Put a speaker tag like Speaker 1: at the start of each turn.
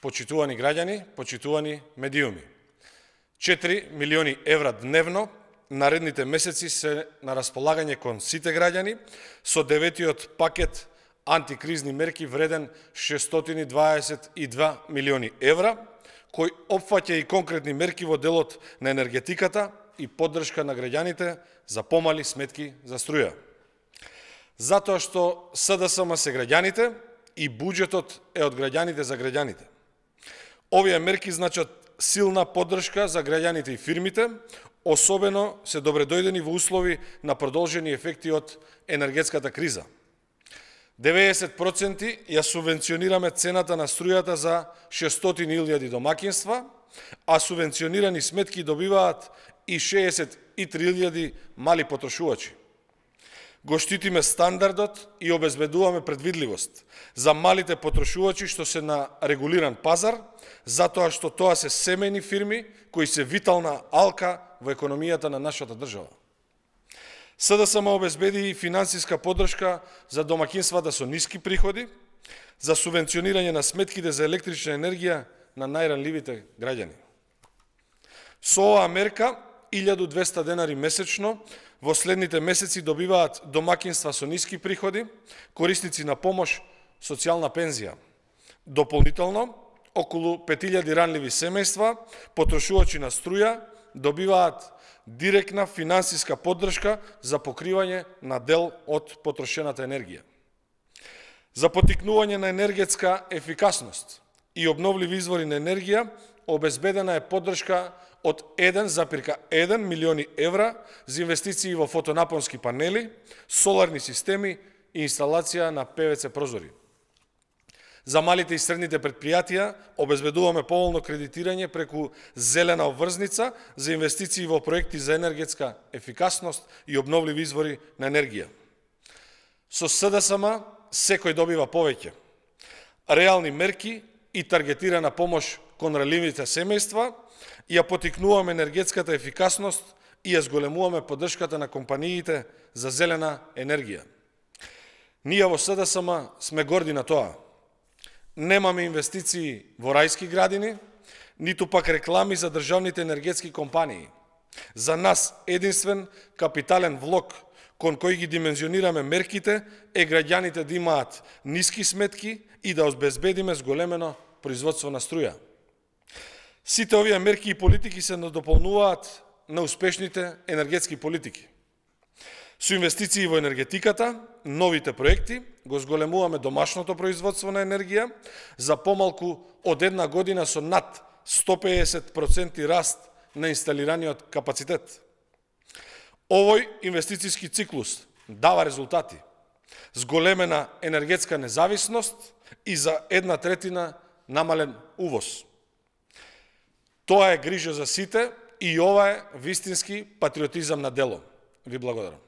Speaker 1: Почитувани граѓани, почитувани медиуми. 4 милиони евра дневно наредните месеци се на располагање кон сите граѓани со 9-тиот пакет антикризни мерки вреден 622 милиони евра, кој опфаќа и конкретни мерки во делот на енергетиката и поддршка на граѓаните за помали сметки за струја. Затоа што СДСМ се граѓаните и буџетот е од граѓаните за граѓаните. Овие мерки значат силна поддршка за граѓаните и фирмите, особено се добредојдени во услови на продолжени ефекти од енергетската криза. 90% ја субвенционираме цената на струјата за 600.000 домакинства, а субвенционирани сметки добиваат и 63.000 мали потрошувачи. Го штитиме стандардот и обезбедуваме предвидливост за малите потрошувачи што се на регулиран пазар, затоа што тоа се семејни фирми кои се витална алка во економијата на нашата држава. СДСМ обезбеди и финансиска поддршка за домакинствата со ниски приходи, за субвенционирање на сметките за електрична енергија на најранливите граѓани. Со оваа мерка 1200 денари месечно во следните месеци добиваат домакинства со ниски приходи, корисници на помош, социјална пензија. Дополнително, околу 5000 ранливи семејства, потрошувачи на струја, добиваат директна финансиска поддршка за покривање на дел од потрошената енергија. За поттикнување на енергетска ефикасност и обновливи извори на енергија, обезбедена е поддршка од 1,1 милиони евра за инвестиции во фотонапонски панели, соларни системи и инсталација на ПВЦ прозори. За малите и средните предпријатија обезбедуваме поволно кредитирање преку зелена обврзница за инвестиции во проекти за енергетска ефикасност и обновливи извори на енергија. Со СДСМ секој добива повеќе. Реални мерки и таргетирана помош кон ранливите семејства, ја поттикнуваме енергетската ефикасност и ја зголемуваме поддршката на компаниите за зелена енергија. Ние во СДСМ сме горди на тоа. Немаме инвестиции во рајски градини, ниту пак реклами за државните енергетски компании. За нас единствен капитален влог кон кој ги димензионираме мерките е граѓаните да имаат ниски сметки и да обезбедиме зголемено производство на струја. Сите овие мерки и политики се надополнуваат на успешните енергетски политики. Со инвестиции во енергетиката, новите проекти, го зголемуваме домашното производство на енергија за помалку од една година со над 150% раст на инсталираниот капацитет. Овој инвестициски циклус дава резултати. Зголемена енергетска независност и за 1/3 намален увоз. Тоа е грижа за сите и ова е вистински патриотизам на дело. Ви благодарам.